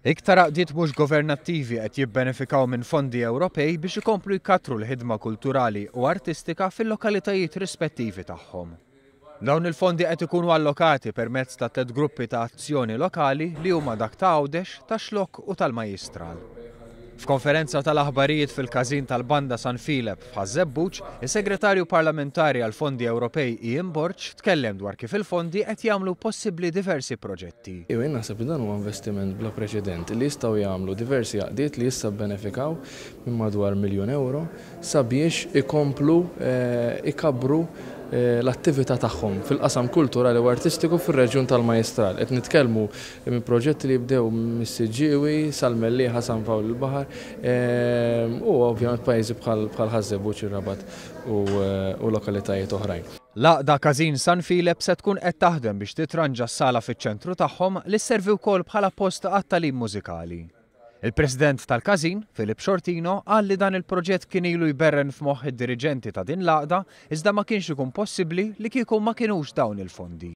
Iktar għaqdiet mhux governattivi qed jibbenefikaw minn fondi Ewropej biex ikomplu jkattru l-ħidma kulturali u artistika fil-lokalitajiet rispettivi tagħhom. Dawn il-fondi qed ikunu allokati permezz ta' tlett gruppi ta' azzjoni lokali li huma dak ta' Għawdex, tax-Xlokk u tal-Majjistral. F'konferenza tal-aħbarijiet fil-Każin tal-Banda San Filep f'Ħaż-Żebbuġ, is-Segretarju Parlamentari għall-Fondi Ewropej Ian Borg tkellem dwar kif il-fondi qed jagħmlu possibbli diversi proġetti. Jien naħseb li dan huwa investiment bla preċedent li jistgħu jagħmlu diversi għaqdiet li issa bbenefikaw minn madwar miljun ewro sabiex ikomplu jkabbru l-attività tagħhom fil-qasam kulturali u artistiku fir-reġjun tal-Majjistral. Qed nitkellmu minn proġetti li jibdew mis-Siġġiewi sal-Mellieħa, San Pawl il-Baħar u ovvjament pajjiżi bħal Ħaż-Żebbuġ, ir-Rabat u lokalitajiet oħrajn. L-Għaqda Każin San Filep se tkun qed taħdem biex titranġa s-sala fiċ-ċentru tagħhom li sservi wkoll bħala post għat-tagħlim mużikali. Il-President tal-Każin, Philip Sciortino, qal li dan il-proġett kien ilu jberren f'moħħ id-diriġenti ta' din l-għaqda iżda ma kienx ikun possibbli li kieku ma kinux dawn il-fondi.